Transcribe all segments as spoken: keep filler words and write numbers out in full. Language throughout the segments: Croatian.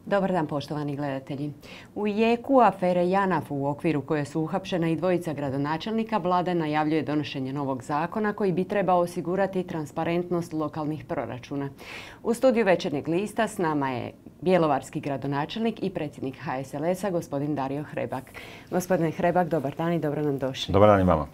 Dobar dan, poštovani gledatelji. U jeku afere JANAF u okviru koje su uhapšena i dvojica gradonačelnika, vlada najavljuje donošenje novog zakona koji bi trebao osigurati transparentnost lokalnih proračuna. U studiju Večernjeg lista s nama je bjelovarski gradonačelnik i predsjednik H S L S-a, gospodin Dario Hrebak. Gospodine Hrebak, dobar dan i dobro nam došli. Dobar dan i vama.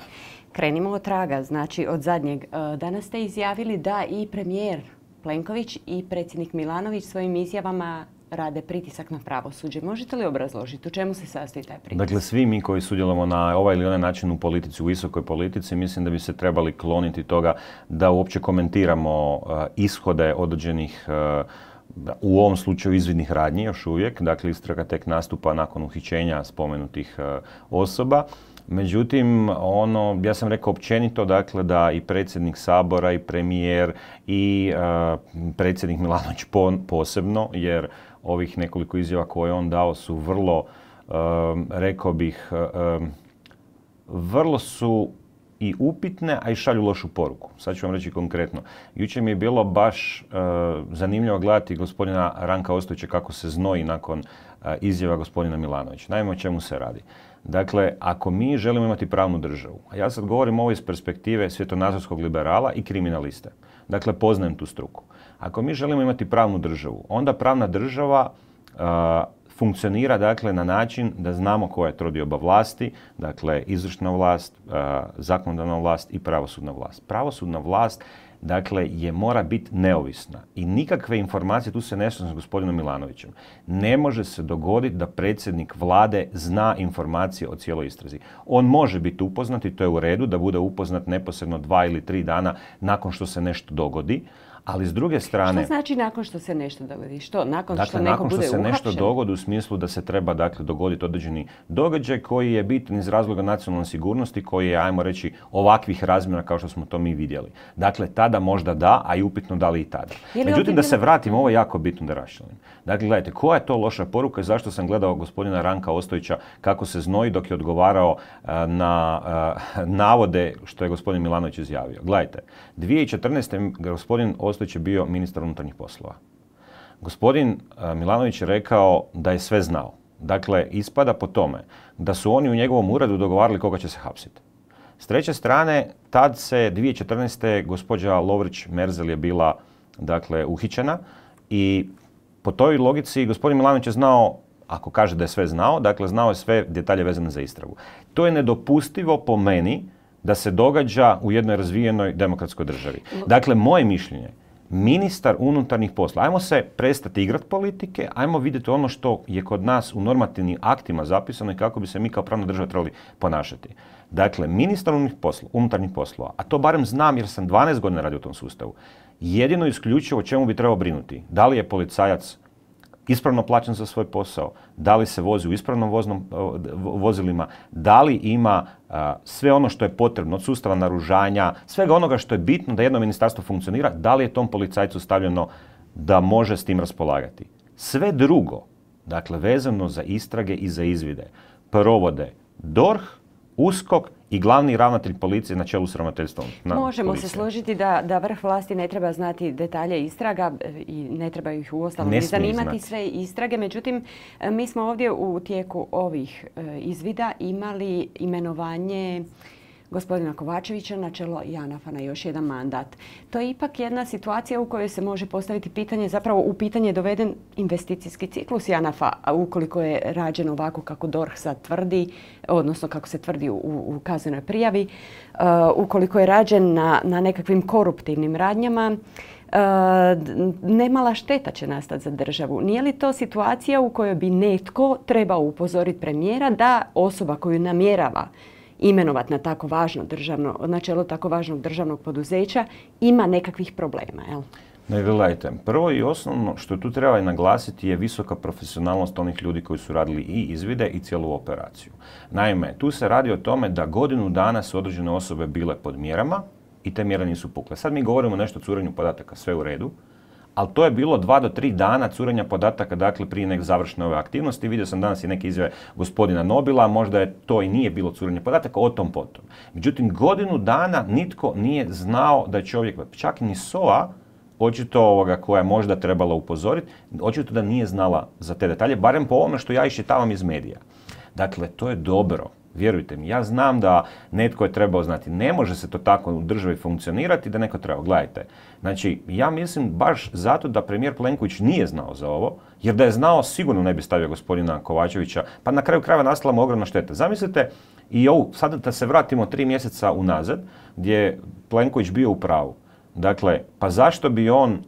Krenimo od traga, znači od zadnjeg. Danas ste izjavili da i premijer Plenković i predsjednik Milanović svojim izjavama rade pritisak na pravosuđe. Možete li obrazložiti u čemu se sastoji taj pritisak? Dakle, svi mi koji sudjelujemo na ovaj ili onaj način u politici, u visokoj politici, mislim da bi se trebali kloniti toga da uopće komentiramo uh, ishode određenih, uh, u ovom slučaju izvidnih radnji još uvijek. Dakle, istraga tek nastupa nakon uhićenja spomenutih uh, osoba. Međutim, ono, ja sam rekao općenito, dakle, da i predsjednik Sabora i premijer i uh, predsjednik Milanović po, posebno, jer ovih nekoliko izjava koje on dao su vrlo, um, rekao bih, um, vrlo su i upitne, a i šalju lošu poruku. Sad ću vam reći konkretno. Jučer mi je bilo baš uh, zanimljivo gledati gospodina Ranka Ostojića kako se znoji nakon uh, izjava gospodina Milanovića. Naime, o čemu se radi. Dakle, ako mi želimo imati pravnu državu, a ja sad govorim ovo iz perspektive svjetonazorskog liberala i kriminaliste. Dakle, poznajem tu struku. Ako mi želimo imati pravnu državu, onda pravna država uh, funkcionira dakle na način da znamo koja je trodioba vlasti, dakle izvršna vlast, uh, zakonodavna vlast i pravosudna vlast. Pravosudna vlast dakle je mora biti neovisna i nikakve informacije, tu se ne slažem s gospodinom Milanovićem, ne može se dogoditi da predsjednik vlade zna informacije o cijeloj istrazi. On može biti upoznat i to je u redu da bude upoznat neposredno dva ili tri dana nakon što se nešto dogodi. Ali s druge strane... Što znači nakon što se nešto dogodi? Što? Nakon dakle, što neko nakon što bude se uhapšen? nešto dogodi u smislu da se treba dakle, dogoditi određeni događaj koji je bitan iz razloga nacionalne sigurnosti, koji je, ajmo reći, ovakvih razmjera kao što smo to mi vidjeli. Dakle, tada možda da, a i upitno da li i tada. Međutim, da se vratim, ovo je jako bitno da raščlanim. Dakle, gledajte, koja je to loša poruka i zašto sam gledao gospodina Ranka Ostojića kako se znoji dok je odgovarao uh, na uh, navode što je gospodin Milanović izjavio. Gledajte, dvije tisuće četrnaeste. gospodin Ostojić je bio ministar unutarnjih poslova. Gospodin uh, Milanović je rekao da je sve znao. Dakle, ispada po tome da su oni u njegovom uredu dogovarali koga će se hapsiti. S treće strane, tad se dvije tisuće četrnaeste. gospođa Lovrić-Merzel je bila dakle, uhićena i po toj logici gospodin Milanović je znao, ako kaže da je sve znao, dakle znao je sve detalje vezane za istragu. To je nedopustivo po meni da se događa u jednoj razvijenoj demokratskoj državi. Dakle, moje mišljenje, ministar unutarnjih posla, ajmo se prestati igrati politike, ajmo vidjeti ono što je kod nas u normativnim aktima zapisano i kako bi se mi kao pravna država trebali ponašati. Dakle, ministar unutarnjih poslova, a to barem znam jer sam dvanaest godina radio u tom sustavu, jedino isključivo o čemu bi trebao brinuti. Da li je policajac ispravno plaćen za svoj posao, da li se vozi u ispravnom voznom, vozilima, da li ima a, sve ono što je potrebno od sustava naoružanja, svega onoga što je bitno da jedno ministarstvo funkcionira, da li je tom policajcu stavljeno da može s tim raspolagati. Sve drugo, dakle vezano za istrage i za izvide, provode D O R H, U S K O K i glavni ravnatelj policije na čelu s ravnateljstvom. Možemo policije. se složiti da, da vrh vlasti ne treba znati detalje istraga i ne treba ih uostalom ni zanimati sve istrage. Međutim, mi smo ovdje u tijeku ovih izvida imali imenovanje gospodina Kovačevića na čelo JANAF-a na još jedan mandat. To je ipak jedna situacija u kojoj se može postaviti pitanje, zapravo u pitanje je doveden investicijski ciklus JANAF-a, a ukoliko je rađeno ovako kako D O R H sad tvrdi, odnosno kako se tvrdi u, u kaznenoj prijavi, uh, ukoliko je rađen na, na nekakvim koruptivnim radnjama, Uh, nemala šteta će nastati za državu. Nije li to situacija u kojoj bi netko trebao upozoriti premijera da osoba koju namjerava imenovati na tako važno državno, na čelo tako važnog državnog poduzeća ima nekakvih problema, jel? Ne, gledajte, prvo i osnovno što tu treba naglasiti je visoka profesionalnost onih ljudi koji su radili i izvide i cijelu operaciju. Naime, tu se radi o tome da godinu dana su određene osobe bile pod mjerama i te mjere nisu pukle. Sad mi govorimo nešto o curenju podataka, sve u redu, ali to je bilo dva do tri dana curenja podataka, dakle prije nek završne ove aktivnosti. Vidio sam danas i neke izjave gospodina Nobila, možda je to i nije bilo curenje podataka, o tom potom. Međutim, godinu dana nitko nije znao da je čovjek, čak ni S O A, očito ovoga koja je možda trebala upozoriti, očito da nije znala za te detalje, barem po ovome što ja iščitavam iz medija. Dakle, to je dobro. Vjerujte mi, ja znam da netko je trebao znati. Ne može se to tako u državi funkcionirati da neko treba. Gledajte, znači ja mislim baš zato da premijer Plenković nije znao za ovo, jer da je znao sigurno ne bi stavio gospodina Kovačevića, pa na kraju krajeva nastala mu ogromna šteta. Zamislite i ovu, sad da se vratimo tri mjeseca unazad, gdje je Plenković bio u pravu. Dakle, pa zašto bi on,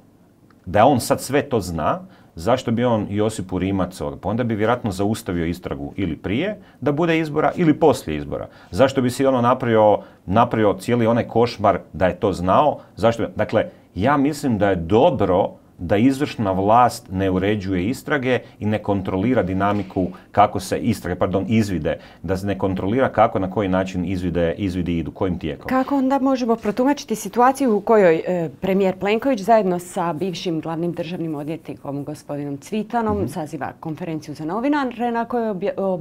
da on sad sve to zna, zašto bi on Josipu Rimac, pa onda bi vjerojatno zaustavio istragu ili prije da bude izbora ili poslije izbora. Zašto bi si ono napravio, napravio cijeli onaj košmar da je to znao? Zašto? Dakle, ja mislim da je dobro da izvršna vlast ne uređuje istrage i ne kontrolira dinamiku kako se istrage, pardon, izvide, da se ne kontrolira kako, na koji način izvide, izvidi idu, kojim tijekom. Kako onda možemo protumačiti situaciju u kojoj e, premijer Plenković zajedno sa bivšim glavnim državnim odvjetnikom gospodinom Cvitanom mm-hmm. saziva konferenciju za novinare na kojoj obje, ob,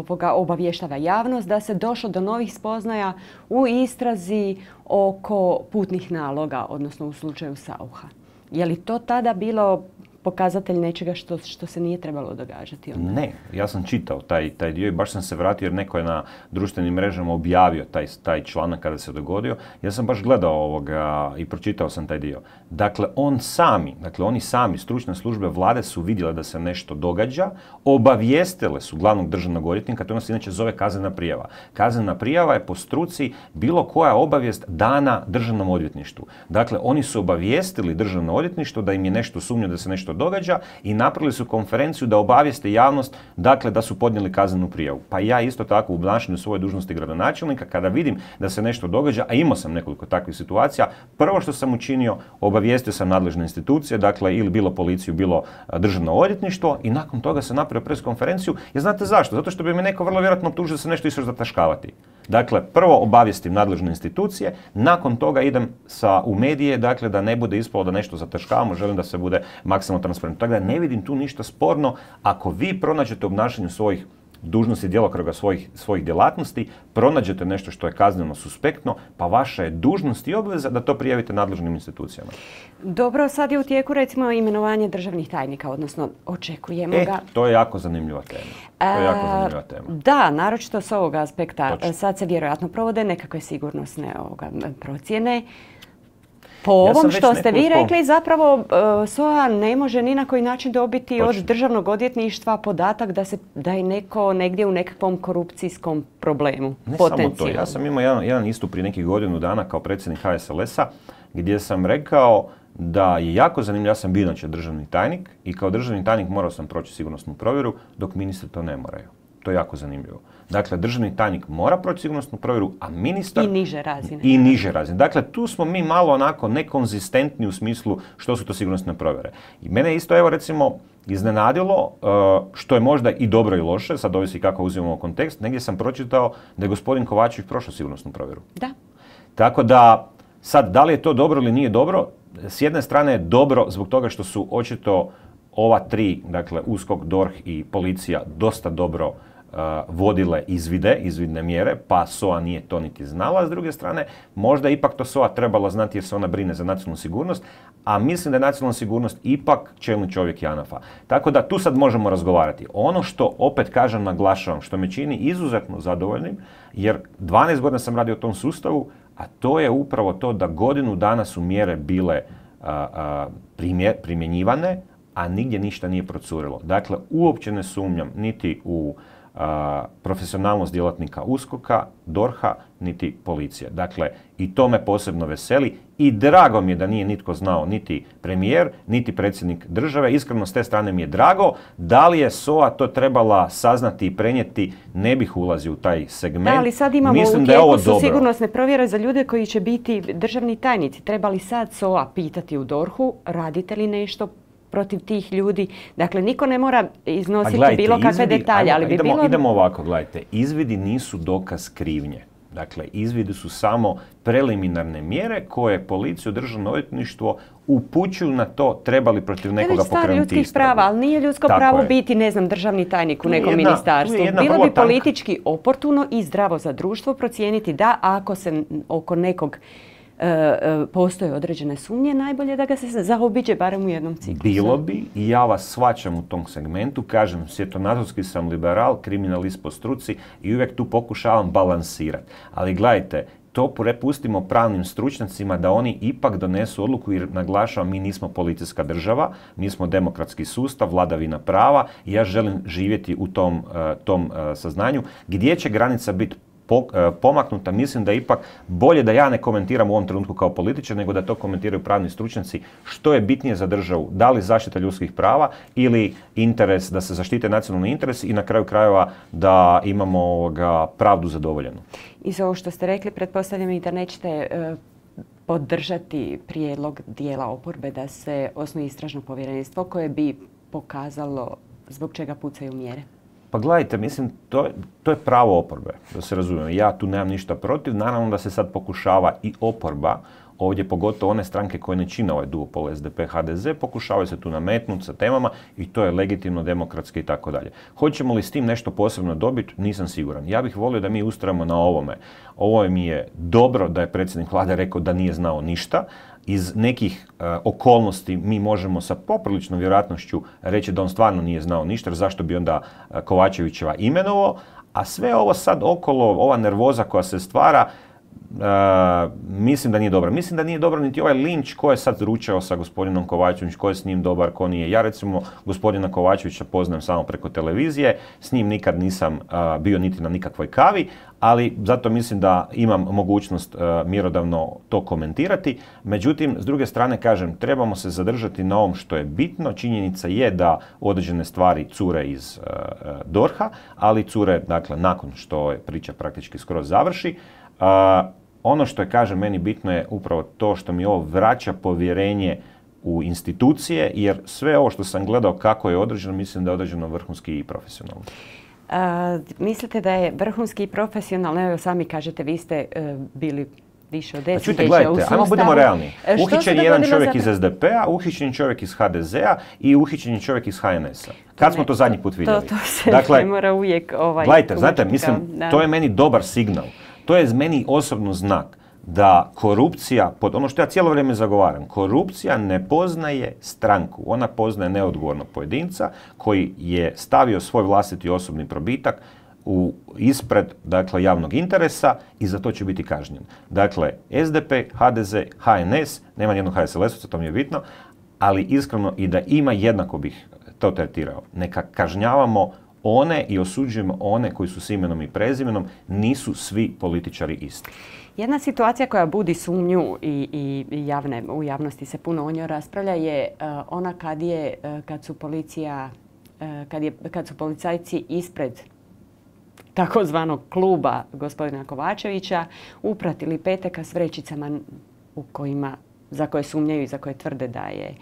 ob, obavještava javnost da se došlo do novih spoznaja u istrazi oko putnih naloga, odnosno u slučaju Saucha. Je li to tada bilo pokazatelj nečega što, što se nije trebalo događati onda? Ne, ja sam čitao taj, taj dio i baš sam se vratio jer neko je na društvenim mrežama objavio taj, taj članak kada se dogodio. Ja sam baš gledao ovoga i pročitao sam taj dio. Dakle, on sami, dakle oni sami, stručne službe vlade su vidjele da se nešto događa, obavijestile su glavnog državnog odvjetnika, to se inače zove kaznena prijava. Kaznena prijava je po struci bilo koja obavijest dana državnom odvjetništvu. Dakle, oni su obavijestili državno odvjetništvo da im je nešto sumnje da se nešto događa i napravili su konferenciju da obavijeste javnost, dakle da su podnijeli kaznenu prijavu. Pa ja isto tako u obnašanju svoje dužnosti gradonačelnika, kada vidim da se nešto događa, a imao sam nekoliko takvih situacija, prvo što sam učinio, obavijestio sam nadležne institucije, dakle ili bilo policiju, bilo državno odvjetništvo i nakon toga sam napravio pres konferenciju. Jer znate zašto? Zato što bi me neko vrlo vjerojatno optužio da se nešto išao zataškavati. Dakle, prvo obavijestim nadležne institucije, nakon toga idem sa, u medije, dakle da ne bude ispalo da nešto zataškavamo, želim da se bude maksimalno transparentno. Tako da ne vidim tu ništa sporno ako vi pronađete u obnašanju svojih dužnosti, djelokruga svojih, svojih djelatnosti, pronađete nešto što je kazneno suspektno, pa vaša je dužnost i obveza da to prijavite nadležnim institucijama. Dobro, sad je u tijeku recimo imenovanje državnih tajnika, odnosno očekujemo e, ga... to je jako zanimljiva tema. To je jako zanimljiva tema. Da, naročito s ovog aspekta. Točno. Sad se vjerojatno provode nekakve sigurnosne ovoga, procjene. Po ovom ja što ste vi rekli, zapravo uh, S O A ne može ni na koji način dobiti Točno. Od državnog odvjetništva podatak da, se, da je neko negdje u nekakvom korupcijskom problemu. Ne samo to. Ja sam imao jedan, jedan istup prije nekih godinu dana kao predsjednik H S L S-a gdje sam rekao da je jako zanimljivo, ja sam bio inače državni tajnik i kao državni tajnik morao sam proći sigurnosnu provjeru dok ministri to ne moraju. To je jako zanimljivo. Dakle, državni tajnik mora proći sigurnosnu provjeru, a ministar... I niže razine. I niže razine. Dakle, tu smo mi malo onako nekonzistentni u smislu što su to sigurnosne provjere. I mene isto, evo recimo, iznenadilo, što je možda i dobro i loše, sad ovisi kako uzimamo kontekst, negdje sam pročitao da je gospodin Kovačević prošao sigurnosnu provjeru. Da. Tako da, sad, da li je to dobro ili nije dobro, s jedne strane je dobro zbog toga što su očito ova tri, dakle U S K O K, D O R H i policija dosta dobro uh, vodile izvide, izvidne mjere, pa S O A nije to niti znala. S druge strane, možda ipak to S O A trebala znati jer se ona brine za nacionalnu sigurnost, a mislim da je nacionalna sigurnost ipak čelni čovjek JANAF-a. Tako da tu sad možemo razgovarati. Ono što opet kažem, naglašavam, što me čini izuzetno zadovoljnim, jer dvanaest godina sam radio u tom sustavu, a to je upravo to da godinu dana su mjere bile uh, uh, primjer, primjenjivane, a nigdje ništa nije procurilo. Dakle, uopće ne sumnjam niti u a, profesionalnost djelatnika U S K O K-a, D O R H-a, niti policije. Dakle, i to me posebno veseli i drago mi je da nije nitko znao, niti premijer, niti predsjednik države. Iskreno, s te strane mi je drago. Da li je S O A to trebala saznati i prenijeti, ne bih ulazio u taj segment. Da, ali sad imamo Mislim u da je ovo tijeku su dobro. sigurnosne provjere za ljude koji će biti državni tajnici. Treba li sad S O A pitati u D O R H-u, radite li nešto protiv tih ljudi? Dakle, niko ne mora iznositi gledajte, bilo kakve izvidi, detalje, ali bi idemo, bilo... Idemo ovako, gledajte. Izvidi nisu dokaz krivnje. Dakle, izvidi su samo preliminarne mjere koje policiju, državno odvjetništvo upućuju na to treba li protiv nekoga pokrenuti istragu. Ljudskih prava, ali nije ljudsko Tako pravo je. biti, ne znam, državni tajnik u nekom jedna, ministarstvu. Bilo bi politički tanka. oportuno i zdravo za društvo procijeniti da ako se oko nekog postoje određene sumnje, najbolje da ga se zaobiđe barem u jednom ciklusu. Bilo bi i ja vas shvaćam u tom segmentu, kažem, svjetonazorski sam liberal, kriminalist po struci i uvijek tu pokušavam balansirati. Ali gledajte, to prepustimo pravnim stručnjacima da oni ipak donesu odluku, jer naglašavam, mi nismo policijska država, mi smo demokratski sustav, vladavina prava i ja želim živjeti u tom, tom saznanju. Gdje će granica biti pomaknuta, mislim da je ipak bolje da ja ne komentiram u ovom trenutku kao političar, nego da to komentiraju pravni stručnjaci što je bitnije za državu, da li zaštita ljudskih prava ili interes da se zaštite nacionalni interesi i na kraju krajeva da imamo ovoga pravdu zadovoljenu. I za ovo što ste rekli, pretpostavljam i da nećete e, podržati prijedlog dijela oporbe da se osnuje istražno povjerenstvo koje bi pokazalo zbog čega pucaju mjere. Pa gledajte, mislim, to, to je pravo oporbe, da se razumijemo. Ja tu nemam ništa protiv. Naravno da se sad pokušava i oporba, ovdje pogotovo one stranke koje ne čine ovaj duopol S D P H D Z, pokušavaju se tu nametnuti sa temama i to je legitimno, demokratski i tako dalje. Hoćemo li s tim nešto posebno dobiti? Nisam siguran. Ja bih volio da mi ustrajemo na ovome. Ovo mi je dobro da je predsjednik vlade rekao da nije znao ništa. Iz nekih uh, okolnosti mi možemo sa popriličnom vjerojatnošću reći da on stvarno nije znao ništa, jer zašto bi onda uh, Kovačevićeva imenovao, a sve ovo sad okolo, ova nervoza koja se stvara, Uh, mislim da nije dobro. Mislim da nije dobro niti ovaj linč ko je sad ručao sa gospodinom Kovačevićem, ko je s njim dobar, ko nije. Ja recimo gospodina Kovačevića poznajem samo preko televizije, s njim nikad nisam uh, bio niti na nikakvoj kavi, ali zato mislim da imam mogućnost uh, mjerodavno to komentirati. Međutim, s druge strane kažem, trebamo se zadržati na ovom što je bitno. Činjenica je da određene stvari cure iz uh, D O R H-a, ali cure, dakle, nakon što je priča praktički skroz završi. Uh, ono što je, kažem, meni bitno je upravo to što mi ovo vraća povjerenje u institucije, jer sve ovo što sam gledao kako je određeno, mislim da je određeno vrhunski i profesionalno. Uh, mislite da je vrhunski i profesionalno? Evo sami kažete, vi ste uh, bili više od deset Čujte, gledajte, ajmo budemo realni. Uhićen je jedan čovjek za... iz S D P-a, uhićen je čovjek iz H D Z-a i uhićen je čovjek iz H N S-a. Kad ne, smo to zadnji put vidjeli? To, to se dakle, ne mora uvijek ovaj... Gledajte, znate, mislim, da. To je meni dobar signal. To je meni osobno znak da korupcija, pod ono što ja cijelo vrijeme zagovaram, korupcija ne poznaje stranku. Ona poznaje neodgovornog pojedinca koji je stavio svoj vlastiti osobni probitak u ispred, dakle, javnog interesa i za to će biti kažnjen. Dakle, S D P, H D Z, H N S, nema nijednog H S L S-ovca, to mi je bitno, ali iskreno i da ima, jednako bih to tretirao. Neka kažnjavamo one i osuđujemo one koji su s imenom i prezimenom, nisu svi političari isti. Jedna situacija koja budi sumnju i, i javne, u javnosti se puno o njoj raspravlja je uh, ona kad je, uh, kad su policija, uh, kad je, kad su policajci ispred takozvanog kluba gospodina Kovačevića upratili Peteka s vrećicama u kojima, za koje sumnjaju i za koje tvrde da je,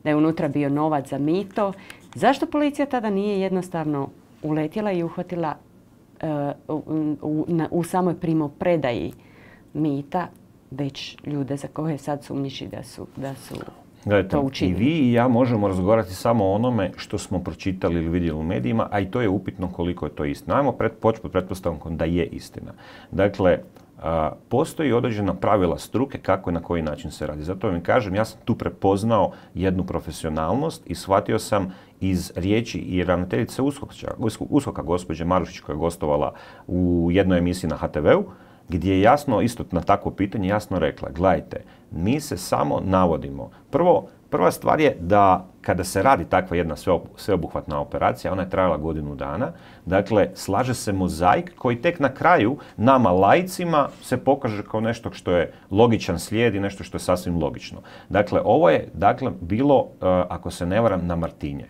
da je unutra bio novac za mito. Zašto policija tada nije jednostavno uletjela i uhvatila uh, u, u, na, u samoj primopredaji mita već ljude za koje sad sumnjiči da su, da su Gledajte, to učinili? I vi i ja možemo razgovarati samo o onome što smo pročitali ili vidjeli u medijima, a i to je upitno koliko je to istina. Ajmo pred, početi pod pretpostavkom da je istina. Dakle, a, postoji određena pravila struke kako i na koji način se radi. Zato vam kažem, ja sam tu prepoznao jednu profesionalnost i shvatio sam iz riječi i ravnateljice USKOK-a gospođe Marušić koja je gostovala u jednoj emisiji na H T V-u, gdje je jasno, isto na takvo pitanje, jasno rekla, gledajte, mi se samo navodimo. Prvo, prva stvar je da kada se radi takva jedna sveobuhvatna operacija, ona je trajala godinu dana, dakle, slaže se mozaik koji tek na kraju nama laicima se pokaže kao nešto što je logičan slijed i nešto što je sasvim logično. Dakle, ovo je dakle, bilo, ako se ne varam, na Martinje.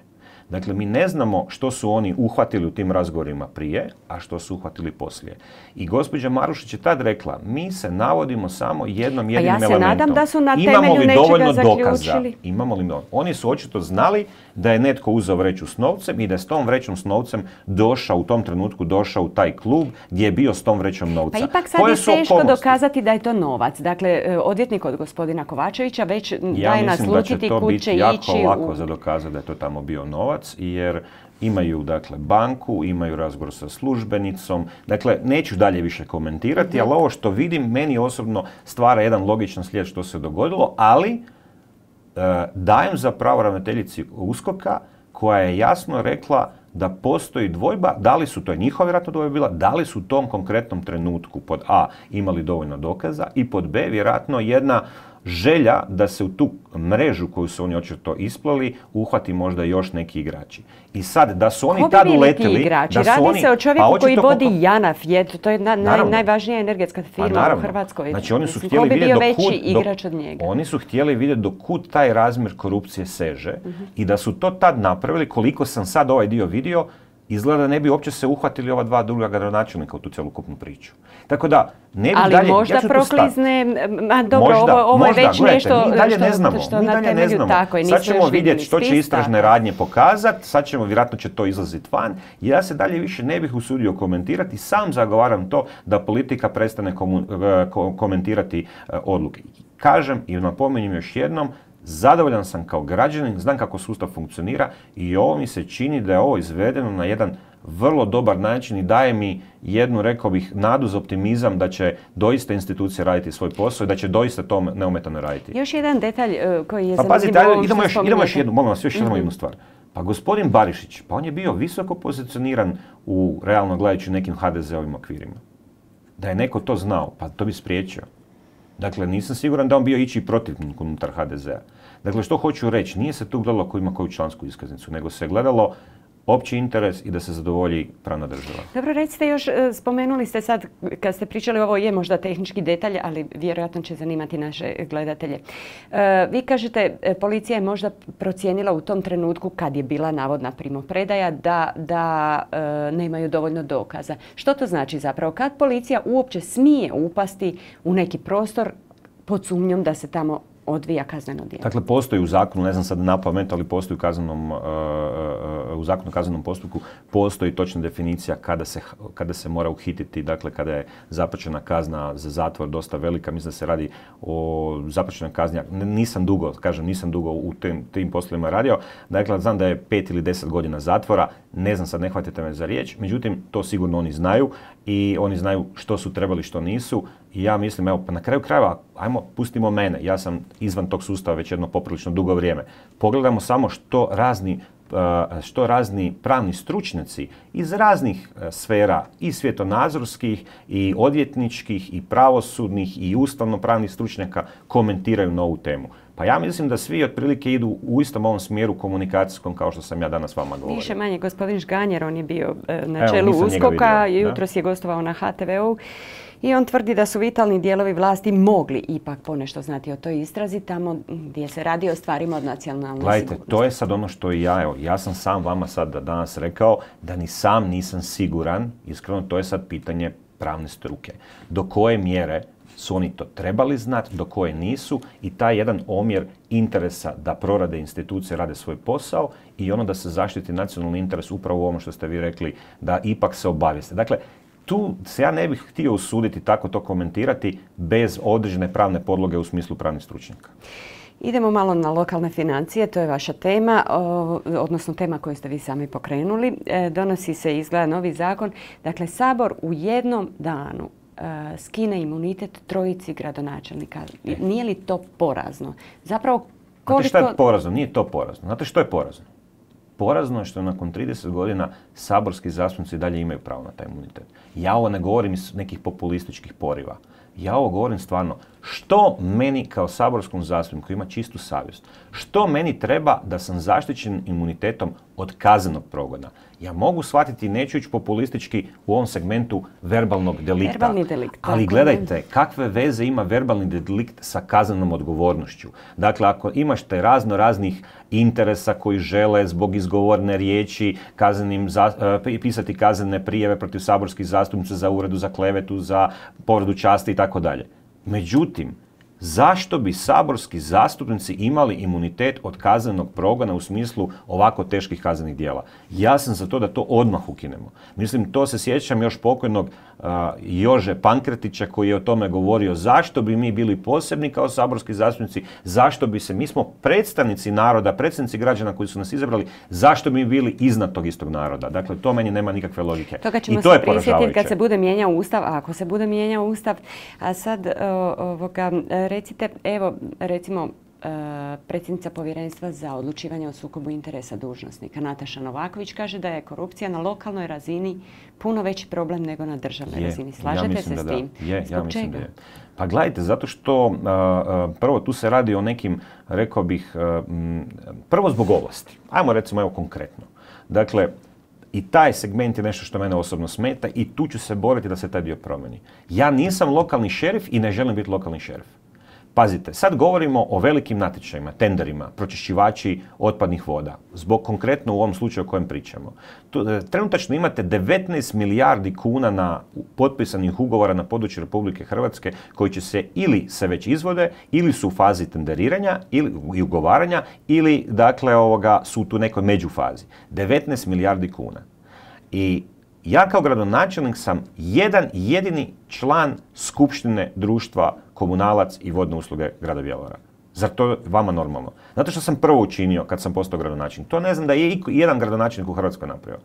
Dakle, mi ne znamo što su oni uhvatili u tim razgovorima prije, a što su uhvatili poslije. I gospođa Marušić je tad rekla, mi se navodimo samo jednom jedinim elementom. Pa ja se nadam da su na temelju nečega zaključili. Imamo li dovoljno? Oni su očito znali da je netko uzeo vreću s novcem i da je s tom vrećom s novcem došao, u tom trenutku došao u taj klub gdje je bio s tom vrećom novca. Pa ipak sad je teško dokazati da je to novac. Dakle, odvjetnik od gospodina Kovačevića već daje naslutiti kud će ići. Ja mislim da će to biti jako lako za dokazati da je to tamo bio novac. novac jer imaju dakle banku, imaju razgovor sa službenicom. Dakle, neću dalje više komentirati, ali ovo što vidim meni osobno stvara jedan logičan slijed što se dogodilo, ali e, dajem za pravo ravnateljici USKOK-a koja je jasno rekla da postoji dvojba, da li su, to je njihova vjerojatno dvojba bila, da li su u tom konkretnom trenutku pod A imali dovoljno dokaza i pod B vjerojatno jedna želja da se u tu mrežu koju su oni očito isplali uhvati možda još neki igrači. I sad, da su oni tad uletili... Igrači? Da su Radi oni, se o čovjeku pa koji vodi koliko... JANAF, je, to je na, naj, najvažnija energetska firma u Hrvatskoj. Znači, oni su htjeli vidjeti do kud, igrač od njega. Oni su htjeli vidjeti do kud taj razmjer korupcije seže uh-huh. i da su to tad napravili, koliko sam sad ovaj dio vidio, izgleda da ne bi uopće se uhvatili ova dva druga gradonačelnika u tu celokupnu priču. Tako da, ne bi Ali dalje... možda ja proklizne... A dobro, možda, ovo, ovo možda, je već gledajte, nešto mi dalje što, ne znamo, što mi na dalje temelju ne znamo. tako. Sad ćemo vidjeti što će istražne radnje pokazati, sad ćemo, vjerojatno će to izlaziti van. Ja se dalje više ne bih usudio komentirati, sam zagovaram to da politika prestane komu, komentirati odluke. Kažem i napominjem još jednom, zadovoljan sam kao građanin, znam kako sustav funkcionira i ovo mi se čini da je ovo izvedeno na jedan vrlo dobar način i daje mi jednu, rekao bih, nadu za optimizam da će doista institucije raditi svoj posao i da će doista to neometano raditi. Još jedan detalj uh, koji je pa, zanimljivo. Pa pazite, idemo još, idemo još jednu, molim vas, još mm-hmm. jednu stvar. Pa gospodin Barišić, pa on je bio visoko pozicioniran u, realno gledajući, nekim ha de ze-ovim okvirima. Da je neko to znao, pa to bi spriječio. Dakle, nisam siguran da on bio ići protivnik unutar ha de ze-a. Dakle, što hoću reći, nije se tu gledalo ko ima koju člansku iskaznicu, nego se gledalo opći interes i da se zadovolji pravna država. Dobro, recite još, spomenuli ste sad, kad ste pričali, ovo je možda tehnički detalj, ali vjerojatno će zanimati naše gledatelje. E, vi kažete, policija je možda procijenila u tom trenutku, kad je bila navodna primopredaja, da, da e, nemaju dovoljno dokaza. Što to znači zapravo? Kad policija uopće smije upasti u neki prostor pod sumnjom da se tamo odvija kazneno djelo? Dakle, postoji u zakonu, ne znam sad na pamet, ali postoji u kaznenom, uh, uh, u zakonu o kaznenom postupku, postoji točna definicija kada se, kada se mora uhititi, dakle kada je započena kazna za zatvor dosta velika, mislim da se radi o započenoj kazni, nisam dugo, kažem, nisam dugo u tim, tim poslovima radio, dakle znam da je pet ili deset godina zatvora, ne znam sad, ne hvatite me za riječ, međutim, to sigurno oni znaju i oni znaju što su trebali, što nisu. I ja mislim, evo, pa na kraju krajeva, ajmo, pustimo mene, ja sam izvan tog sustava već jedno poprilično dugo vrijeme. Pogledamo samo što razni, što razni pravni stručnjaci iz raznih sfera, i svjetonazorskih, i odvjetničkih, i pravosudnih, i ustavno-pravnih stručnjaka komentiraju na ovu temu. Pa ja mislim da svi otprilike idu u istom ovom smjeru komunikacijskom kao što sam ja danas vama govorio. Više manje, gospodin Žganjer, on je bio na Evo, čelu USKOK-a, jutros je gostovao na ha te ve u. I on tvrdi da su vitalni dijelovi vlasti mogli ipak ponešto znati o toj istrazi tamo gdje se radi o stvarima od nacionalne Gledajte, sigurnosti. to je sad ono što i ja, evo, ja sam sam vama sad danas rekao da ni sam nisam siguran, iskreno to je sad pitanje pravne struke. Do koje mjere su oni to trebali znati, do koje nisu i taj jedan omjer interesa da prorade institucije, rade svoj posao i ono da se zaštiti nacionalni interes upravo u ovom što ste vi rekli, da ipak se obavijeste. Dakle, tu se ja ne bih htio usuditi tako to komentirati bez određene pravne podloge u smislu pravnih stručnjaka. Idemo malo na lokalne financije, to je vaša tema, odnosno tema koju ste vi sami pokrenuli. Donosi se, izgleda, novi zakon. Dakle, Sabor u jednom danu skine imunitet trojici gradonačelnika. Nije li to porazno? Zapravo, koliko... Znate što je porazno? Nije to porazno. Znate što je porazno? Porazno je što nakon trideset godina saborski zastupnici dalje imaju pravo na taj imunitet. Ja ovo ne govorim iz nekih populističkih poriva. Ja ovo govorim stvarno. Što meni kao saborskom zastupniku ima čistu savjest? Što meni treba da sam zaštićen imunitetom od kaznenog progona? Ja mogu shvatiti, neću ići populistički u ovom segmentu verbalnog delikta. Verbalni delikt. Ali gledajte, kakve veze ima verbalni delikt sa kaznenom odgovornošću? Dakle, ako imaš te razno raznih interesa koji žele zbog izgovorne riječi kaznenim, za, pisati kaznene prijave protiv saborskih zastupnica za uvredu, za klevetu, za povredu časti i tako dalje. Međutim, Zašto bi saborski zastupnici imali imunitet od kaznenog progona u smislu ovako teških kaznenih djela? Ja sam za to da to odmah ukinemo. Mislim, to se sjećam još pokojnog uh, Jože Pankretića koji je o tome govorio. Zašto bi mi bili posebni kao saborski zastupnici? Zašto bi se, mi smo predstavnici naroda, predstavnici građana koji su nas izabrali, zašto bi mi bili iznad tog istog naroda? Dakle, to meni nema nikakve logike. Toga ćemo I to se prisjetiti kad se bude mijenjao Ustav, ako se bude mijenjao Ustav. A sad, ovoga, recite, evo, recimo, predsjednica Povjerenstva za odlučivanje o sukobu interesa dužnosnika Nataša Novaković kaže da je korupcija na lokalnoj razini puno veći problem nego na državnoj je, razini. Slažete ja se s tim? Je, ja mislim čega? Da je. Pa gledajte, zato što a, prvo tu se radi o nekim, rekao bih, a, m, prvo zbog ovlasti. Ajmo recimo evo konkretno. Dakle, i taj segment je nešto što mene osobno smeta i tu ću se boriti da se taj dio promijeni. Ja nisam lokalni šerif i ne želim biti lokalni šerif. Pazite, sad govorimo o velikim natječajima, tenderima, pročišćivači otpadnih voda, zbog konkretno u ovom slučaju o kojem pričamo. Tu, trenutačno imate devetnaest milijardi kuna na potpisanih ugovora na području Republike Hrvatske koji će se ili se već izvode, ili su u fazi tenderiranja ili i ugovaranja, ili dakle ovoga su tu nekoj međufazi. devetnaest milijardi kuna. I ja kao gradonačelnik sam jedan jedini član skupštine društva Komunalac i vodne usluge grada Bjelovara. Zar to vama normalno? Zato što sam prvo učinio kad sam postao gradonačelnik. To ne znam da je jedan gradonačelnik u Hrvatskoj napravio.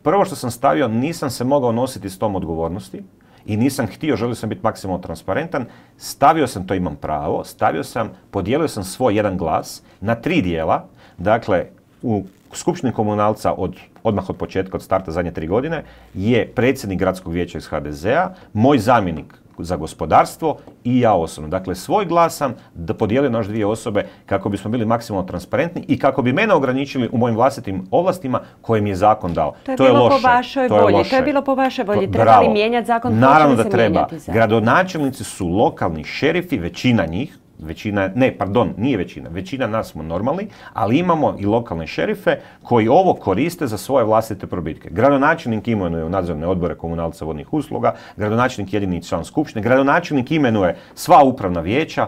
Prvo što sam stavio, nisam se mogao nositi s tom odgovornosti i nisam htio, želio sam biti maksimalno transparentan. Stavio sam, to imam pravo, stavio sam, podijelio sam svoj jedan glas na tri dijela. Dakle, u Skupštini Komunalca od, odmah od početka, od starta zadnje tri godine, je predsjednik gradskog vijeća iz ha de zea, moj zamjenik za gospodarstvo i ja osobno. Dakle, svoj glas sam da podijelio na još dvije osobe kako bismo bili maksimalno transparentni i kako bi mene ograničili u mojim vlastitim ovlastima koje mi je zakon dao. To je, to je bilo loše. Po vašoj volji. To je, to je bilo po vašoj volji. Treba li mijenjati zakon? Naravno da treba. Gradonačelnici su lokalni šerifi, većina njih, Većina, ne, pardon, nije većina, većina nas smo normalni, ali imamo i lokalne šerife koji ovo koriste za svoje vlastite probitke. Gradonačelnik imenuje u nadzorne odbore Komunalca vodnih usluga, gradonačelnik jedini član skupštine, gradonačelnik imenuje sva upravna vijeća.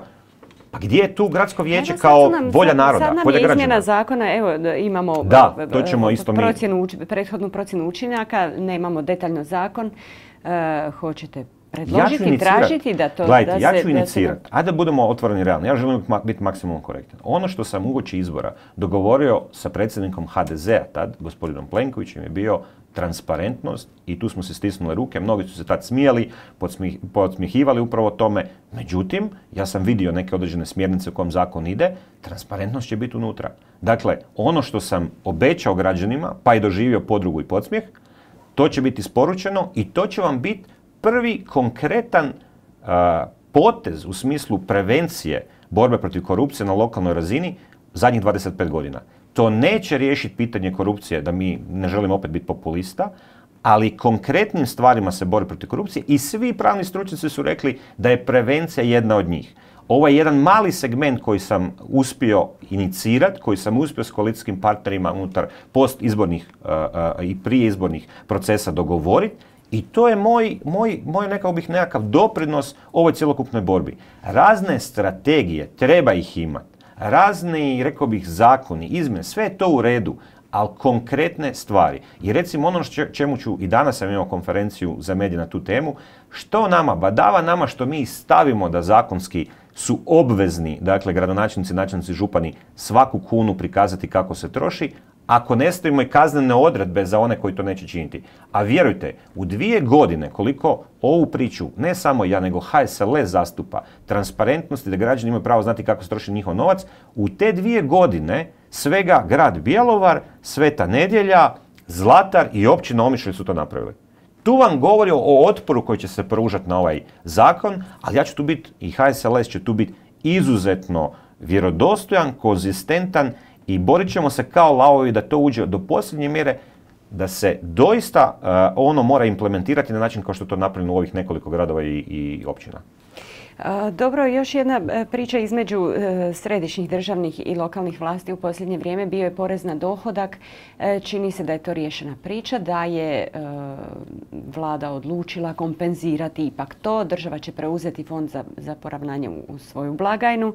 Pa gdje je tu gradsko vijeće kao nam, volja naroda, sad nam volja je građana? Izmjena zakona, evo imamo da, to ćemo isto procjenu, prethodnu procjenu učinaka, nemamo detaljno zakon, uh, hoćete predložiti, ja tražiti da to... Gledajte, da ja se, ću inicirati. Se... Ajde da budemo otvoreni realni. Ja želim biti maksimalno korektan. Ono što sam uoči izbora dogovorio sa predsjednikom ha de zea tad, gospodinom Plenkovićem, je bio transparentnost i tu smo se stisnuli ruke. Mnogi su se tad smijali, podsmih, podsmihivali upravo tome. Međutim, ja sam vidio neke određene smjernice u kojem zakon ide. Transparentnost će biti unutra. Dakle, ono što sam obećao građanima, pa i doživio podrugu i podsmijeh, to će biti isporučeno i to će vam biti prvi konkretan uh, potez u smislu prevencije borbe protiv korupcije na lokalnoj razini zadnjih dvadeset pet godina. To neće riješiti pitanje korupcije, da mi ne želimo opet biti populista, ali konkretnim stvarima se bori protiv korupcije i svi pravni stručnjaci su rekli da je prevencija jedna od njih. Ovo je jedan mali segment koji sam uspio inicirati, koji sam uspio s koalicijskim partnerima unutar postizbornih uh, uh, i prije izbornih procesa dogovoriti. I to je moj, moj, moj nekao bih nekakav doprinos ovoj cjelokupnoj borbi. Razne strategije, treba ih imati. Razni, rekao bih, zakoni, izmjene, sve je to u redu, ali konkretne stvari. I recimo ono čemu ću, i danas sam imao konferenciju za medije na tu temu, što nama, badava nama što mi stavimo da zakonski su obvezni, dakle gradonačelnici, načelnici, župani, svaku kunu prikazati kako se troši, ako ne stavimo i kaznene odredbe za one koji to neće činiti. A vjerujte, u dvije godine koliko ovu priču, ne samo ja, nego ha es el es zastupa transparentnosti, da građani imaju pravo znati kako se troši njihov novac, u te dvije godine svega grad Bjelovar, Sveta Nedjelja, Zlatar i općina Omišalj su to napravili. Tu vam govori o otporu koji će se pružati na ovaj zakon, ali ja ću tu biti, i ha es el es će tu biti izuzetno vjerodostojan, konzistentan i borit ćemo se kao lavovi da to uđe do posljednje mjere, da se doista uh, ono mora implementirati na način kao što je to napravljeno u ovih nekoliko gradova i, i općina. Dobro, još jedna priča između središnjih državnih i lokalnih vlasti u posljednje vrijeme bio je porez na dohodak. Čini se da je to riješena priča, da je vlada odlučila kompenzirati ipak to. Država će preuzeti fond za, za poravnanje u svoju blagajnu.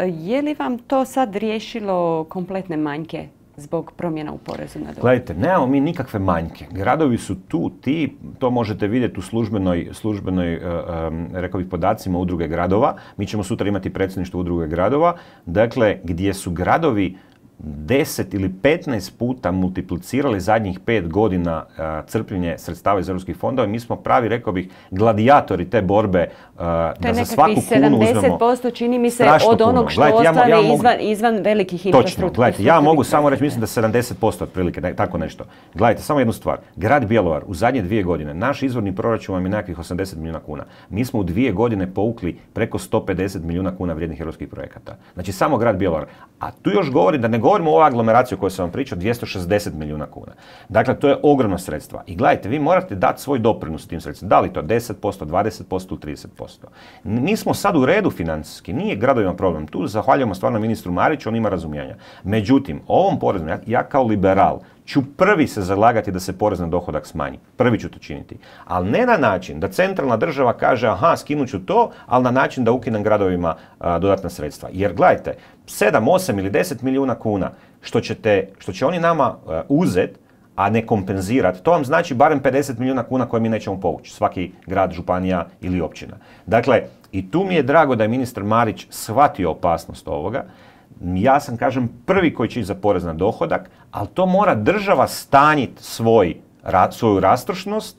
Je li vam to sad riješilo kompletne manjke zbog promjena u porezu na dohodak? Gledajte, nemamo mi nikakve manjke. Gradovi su tu ti, to možete vidjeti u službenoj, službenoj um, rekao bih, podacima udruge gradova. Mi ćemo sutra imati predsjedništvo udruge gradova. Dakle, gdje su gradovi deset ili petnaest puta multiplicirali zadnjih pet godina uh, crpljenje sredstava iz europskih fondova. Mi smo pravi, rekao bih, gladijatori te borbe uh, da za svaku kunu uzmemo. To je nekakvih sedamdeset posto čini mi se od onog što gledajte, ostane ja, ja mogu, izvan, izvan velikih infrastrukturnih. Točno, gledajte, ja mogu samo reći, mislim da sedamdeset posto otprilike, da, tako nešto. Gledajte, samo jednu stvar. Grad Bjelovar u zadnje dvije godine, naš izvorni proračun vam je nekakvih osamdeset milijuna kuna. Mi smo u dvije godine povukli preko sto pedeset milijuna kuna vrijednih europskih projekata. Znači samo grad Bjelovar. A tu još govori da ne govorimo o ovoj aglomeraciji o kojoj sam vam pričao, dvjesto šezdeset milijuna kuna. Dakle, to je ogromno sredstva. I gledajte, vi morate dati svoj doprinos tim sredstvima. Da li to deset posto, dvadeset posto, trideset posto. Mi smo sad u redu financijski, nije gradovima problem. Tu zahvaljujemo stvarno ministru Mariću, on ima razumijanja. Međutim, ovom porezom, ja, ja kao liberal ću prvi se zalagati da se porez na dohodak smanji. Prvi ću to činiti. Ali ne na način da centralna država kaže aha, skinut ću to, ali na način da ukinem gradovima a, dodatna sredstva. Jer gledajte, sedam, osam ili deset milijuna kuna što, ćete, što će oni nama a, uzet, a ne kompenzirati, to vam znači barem pedeset milijuna kuna koje mi nećemo povući. Svaki grad, županija ili općina. Dakle, i tu mi je drago da je ministar Marić shvatio opasnost ovoga. Ja sam, kažem, prvi koji će ići za porez na dohodak, ali to mora država stanjiti svoj, ra, svoju rastrošnost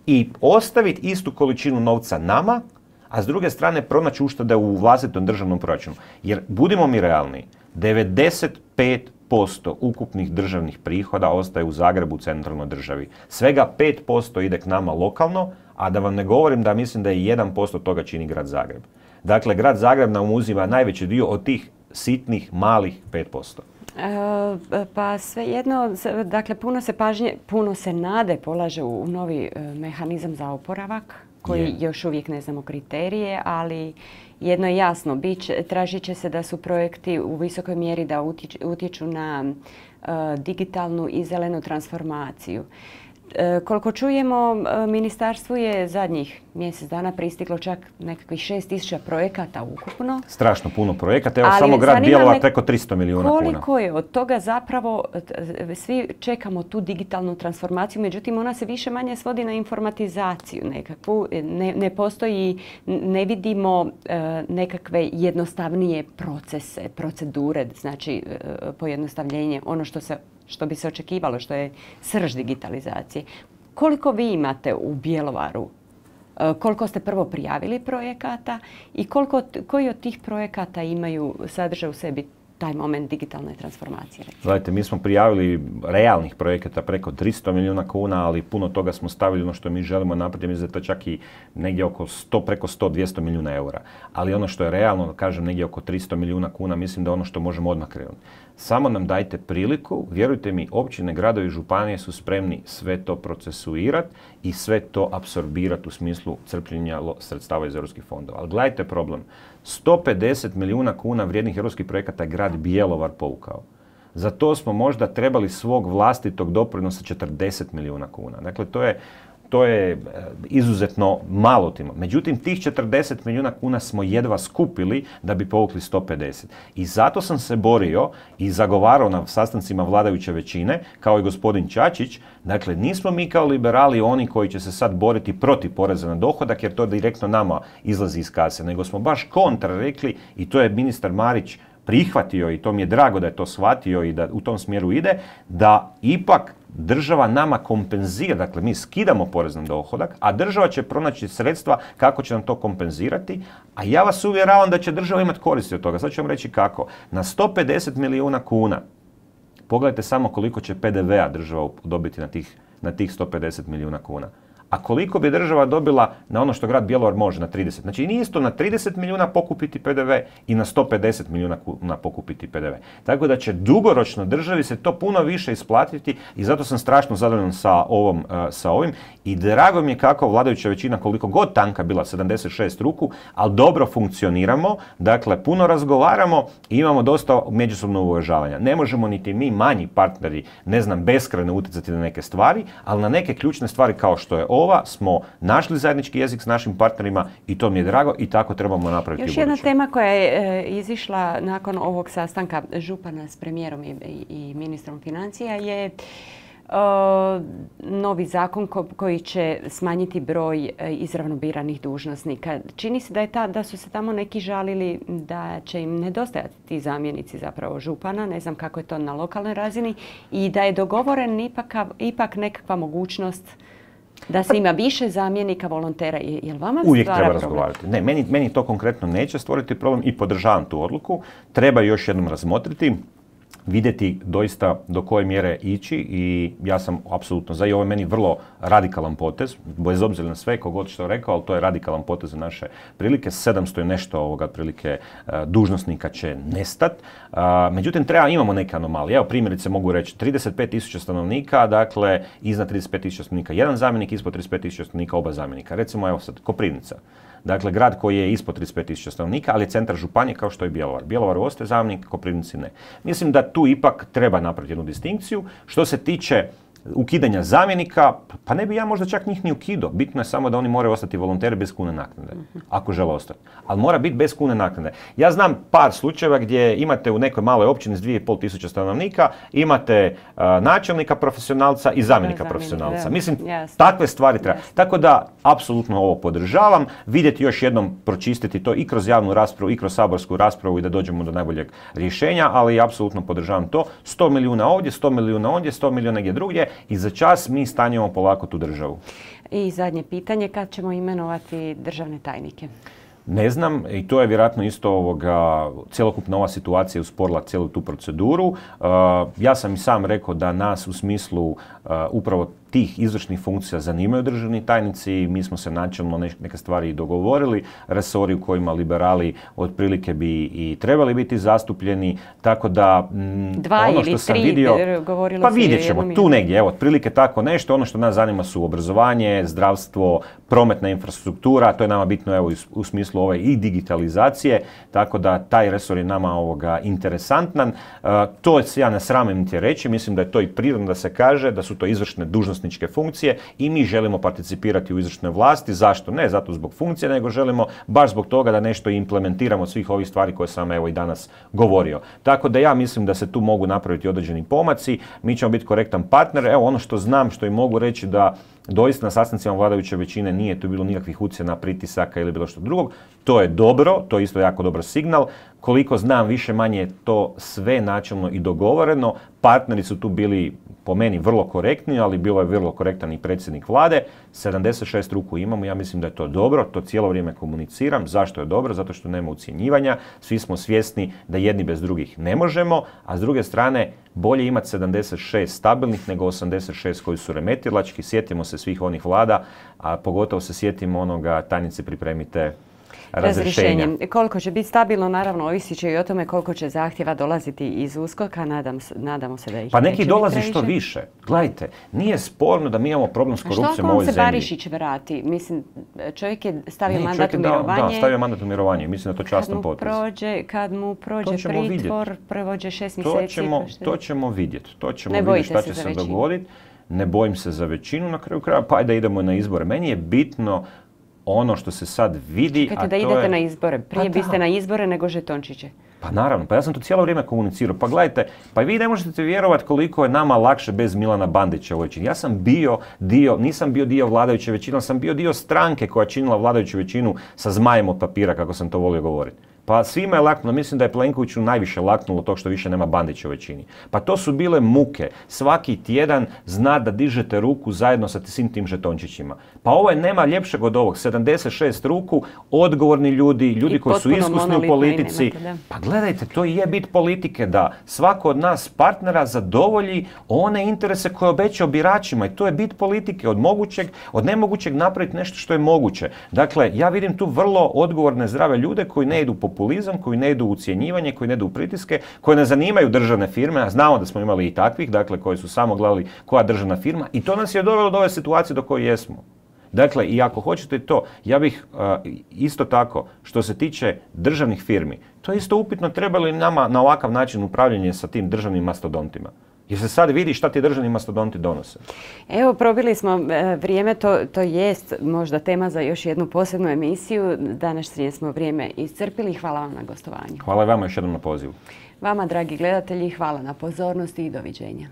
i ostaviti istu količinu novca nama, a s druge strane pronaći uštede u vlastitom državnom proračunu. Jer, budimo mi realni, devedeset pet posto ukupnih državnih prihoda ostaje u Zagrebu, u centralnoj državi. Svega pet posto ide k nama lokalno, a da vam ne govorim da mislim da je jedan posto toga čini grad Zagreb. Dakle, grad Zagreb nam uzima najveći dio od tih sitnih, malih pet posto. E, pa svejedno, dakle, puno se pažnje, puno se nade polaže u novi mehanizam za oporavak, koji je. Još uvijek ne znamo kriterije, ali jedno je jasno, biće, tražit će se da su projekti u visokoj mjeri da utječu na uh, digitalnu i zelenu transformaciju. E, koliko čujemo, ministarstvu je zadnjih mjesec dana pristiglo čak nekakvih šest tisuća projekata ukupno. Strašno puno projekata. Evo ali samo grad Bjelovar preko tristo milijuna kuna. Koliko je od toga zapravo, svi čekamo tu digitalnu transformaciju, međutim ona se više manje svodi na informatizaciju nekakvu. Ne, ne postoji, ne vidimo e, nekakve jednostavnije procese, procedure, znači e, pojednostavljenje, ono što se što bi se očekivalo, što je srž digitalizacije. Koliko vi imate u Bjelovaru? Koliko ste prvo prijavili projekata i koliko, koji od tih projekata imaju sadržaj u sebi taj moment digitalne transformacije? Gledajte, mi smo prijavili realnih projekata preko tristo milijuna kuna, ali puno toga smo stavili ono što mi želimo napraviti. Mislim da je to čak i negdje oko sto, preko sto do dvjesto milijuna eura. Ali ono što je realno, kažem, negdje oko tristo milijuna kuna, mislim da ono što možemo odmah krenuti. Samo nam dajte priliku, vjerujte mi, općine, gradovi i županije su spremni sve to procesuirati i sve to apsorbirati u smislu crpljenja sredstava iz europskih fondova. Ali gledajte problem. sto pedeset milijuna kuna vrijednih europskih projekata je grad Bjelovar povukao. Za to smo možda trebali svog vlastitog doprinosa četrdeset milijuna kuna. Dakle, to je, to je izuzetno malo timo. Međutim, tih četrdeset milijuna kuna smo jedva skupili da bi povukli sto pedeset. I zato sam se borio i zagovarao na sastancima vladajuće većine, kao i gospodin Čačić. Dakle, nismo mi kao liberali oni koji će se sad boriti protiv poreza na dohodak, jer to direktno nama izlazi iz kase, nego smo baš kontra rekli, i to je ministar Marić prihvatio i to mi je drago da je to shvatio i da u tom smjeru ide, da ipak država nama kompenzira, dakle mi skidamo porez na dohodak, a država će pronaći sredstva kako će nam to kompenzirati, a ja vas uvjeravam da će država imati koristi od toga. Sad ću vam reći kako. Na sto pedeset milijuna kuna, pogledajte samo koliko će P D V-a država dobiti na tih, na tih sto pedeset milijuna kuna. a koliko bi država dobila na ono što grad Bjelovar može, na trideset. Znači nije isto na trideset milijuna pokupiti P D V i na sto pedeset milijuna kuna pokupiti P D V. Tako da će dugoročno državi se to puno više isplatiti i zato sam strašno zadovoljan sa, ovom, uh, sa ovim i drago mi je kako vladajuća većina, koliko god tanka bila, sedamdeset šest ruku, ali dobro funkcioniramo, dakle puno razgovaramo i imamo dosta međusobnog uvažavanja. Ne možemo niti mi manji partneri, ne znam, beskrajno utjecati na neke stvari, ali na neke ključne stvari kao što je ova smo našli zajednički jezik s našim partnerima i to mi je drago i tako trebamo napraviti. Još jedna tema koja je e, izišla nakon ovog sastanka župana s premijerom i, i, i ministrom financija je e, novi zakon ko, koji će smanjiti broj e, izravno biranih dužnosnika. Čini se da, je ta, da su se tamo neki žalili da će im nedostajati ti zamjenici zapravo župana, ne znam kako je to na lokalnoj razini, i da je dogovoren ipak, ipak nekakva mogućnost da se ima više zamjenika volontera. Je li vama uvijek stvara treba problem? razgovarati. Ne, meni, meni to konkretno neće stvoriti problem i podržavam tu odluku. Treba još jednom razmotriti, vidjeti doista do koje mjere ići i ja sam apsolutno za i ovo je meni vrlo radikalan potez, bez obzira na sve, kogod što rekao, ali to je radikalan potez za naše prilike. sedamsto i nešto ovoga prilike dužnosnika će nestat. Međutim, treba, imamo neke anomalije. Evo primjerice mogu reći, trideset pet tisuća stanovnika, dakle iznad trideset pet tisuća stanovnika jedan zamjenik, ispod trideset pet tisuća stanovnika oba zamjenika. Recimo evo sad, Koprivnica. Dakle, grad koji je ispod trideset pet tisuća stanovnika, ali je centar županije kao što je Bjelovar. Bjelovar ostaje zamjenik, Koprivnici ne. Mislim da tu ipak treba napraviti jednu distinkciju. Što se tiče ukidanja zamjenika, pa ne bi ja možda čak njih ni ukidao. Bitno je samo da oni moraju ostati volonteri bez kune naknade, ako žele ostati. Ali mora biti bez kune naknade. Ja znam par slučajeva gdje imate u nekoj maloj općini s dvije i pol tisuća stanovnika, imate uh, načelnika profesionalca i zamjenika profesionalca. Mislim, yes. takve stvari treba. Yes. Tako da, apsolutno ovo podržavam. Vidjeti još jednom, pročistiti to i kroz javnu raspravu i kroz saborsku raspravu i da dođemo do najboljeg rješenja, ali apsolutno podržavam to. sto milijuna ovdje, sto milijuna ondje, sto milijuna gdje drugdje. I za čas mi stanjemo polako tu državu. I zadnje pitanje, kad ćemo imenovati državne tajnike? Ne znam, i to je vjerojatno isto ovoga, cjelokupna ova situacija usporila cijelu tu proceduru. Uh, ja sam i sam rekao da nas u smislu uh, upravo tih izvršnih funkcija zanimaju državni tajnici. Mi smo se načelno neke stvari i dogovorili, resori u kojima liberali otprilike bi i trebali biti zastupljeni, tako da m, Dva ono ili što sam tri, vidio, govorilo pa se vidjet ćemo tu negdje, evo, otprilike tako nešto. Ono što nas zanima su obrazovanje, zdravstvo, prometna infrastruktura, to je nama bitno evo u smislu ove i digitalizacije, tako da taj resor je nama ovoga interesantan. Uh, to ja ne sramim niti reći, mislim da je to i prirodno da se kaže, da su to izvršne dužnosti funkcije i mi želimo participirati u izvršnoj vlasti. Zašto? Ne zato zbog funkcije, nego želimo baš zbog toga da nešto implementiramo od svih ovih stvari koje sam evo i danas govorio. Tako da ja mislim da se tu mogu napraviti određeni pomaci. Mi ćemo biti korektan partner. Evo ono što znam, što i mogu reći da doista na sastancima vladajuće većine nije tu bilo nikakvih ucjena, pritisaka ili bilo što drugog. To je dobro, to je isto jako dobar signal. Koliko znam, više manje je to sve načelno i dogovoreno. Partneri su tu bili po meni vrlo korektni, ali bilo je vrlo korektan i predsjednik vlade. sedamdeset šest ruku imamo, ja mislim da je to dobro, to cijelo vrijeme komuniciram. Zašto je dobro? Zato što nema ucjenjivanja, svi smo svjesni da jedni bez drugih ne možemo, a s druge strane bolje imati sedamdeset šest stabilnih nego osamdeset šest koji su remetilački. Sjetimo se svih onih vlada, a pogotovo se sjetimo onoga, tajnice pripremite razrješenja. Koliko će biti stabilno, naravno, ovisit će i o tome koliko će zahtjeva dolaziti iz USKOK-a, nadam, nadamo se da ih pa neki dolazi što više. Gledajte, nije sporno da mi imamo problem s korupcijom u ovoj zemlji. Što ako on se Barišić vrati? Mislim, čovjek je stavio ne, mandat u mirovanje. Da, da, stavio mandat u mirovanje. Mislim da to častan potez. Prođe, kad mu prođe pritvor, prođe šest mjeseci. To ćemo, to ćemo vidjeti. To ćemo vidjeti šta će se dogoditi. Ne bojim se za većinu na kraju kraja, pa da idemo na izbore. Meni je bitno ono što se sad vidi, Čekajte, a da to idete je... na izbore. Prije pa biste na izbore nego žetončiće. Pa naravno, pa ja sam to cijelo vrijeme komunicirao. Pa gledajte, pa vi ne možete vjerovati koliko je nama lakše bez Milana Bandića u ovoj većini. Ja sam bio dio, nisam bio dio vladajuće većine, sam bio dio stranke koja činila vladajuću većinu sa zmajem od papira, kako sam to volio govoriti. Pa Pa svima je laknulo, mislim da je Plenkoviću najviše laknulo to što više nema Bandića u većini. Pa to su bile muke. Svaki tjedan zna da dižete ruku zajedno sa svim tim žetončićima. Pa ovo je nema ljepšeg od ovog. sedamdeset šest ruku, odgovorni ljudi, ljudi koji su iskusni u politici. Pa gledajte, to i je bit politike, da svako od nas partnera zadovolji one interese koje obećao biračima. I to je bit politike. Od mogućeg, od nemogućeg napraviti nešto što je moguće. Dakle, ja vidim tu vrlo odgovorne, zdrave ljude koji ne idu u populizam, koji ne idu u ucjenjivanje, koji ne idu u pritiske, koji ne zanimaju državne firme, a znamo da smo imali i takvih, dakle, koji su samo gledali koja državna firma, i to nas je dovelo do ove situacije do koje jesmo. Dakle, i ako hoćete to, ja bih uh, isto tako, što se tiče državnih firmi, to je isto upitno, treba li nama na ovakav način upravljanje sa tim državnim mastodontima. Jer se sad vidi šta ti državni mastodonti donose. Evo, probili smo vrijeme, to, to jest možda tema za još jednu posebnu emisiju. Današnje smo vrijeme iscrpili. Hvala vam na gostovanju. Hvala i vama još jednom na pozivu. Vama, dragi gledatelji, hvala na pozornosti i doviđenja.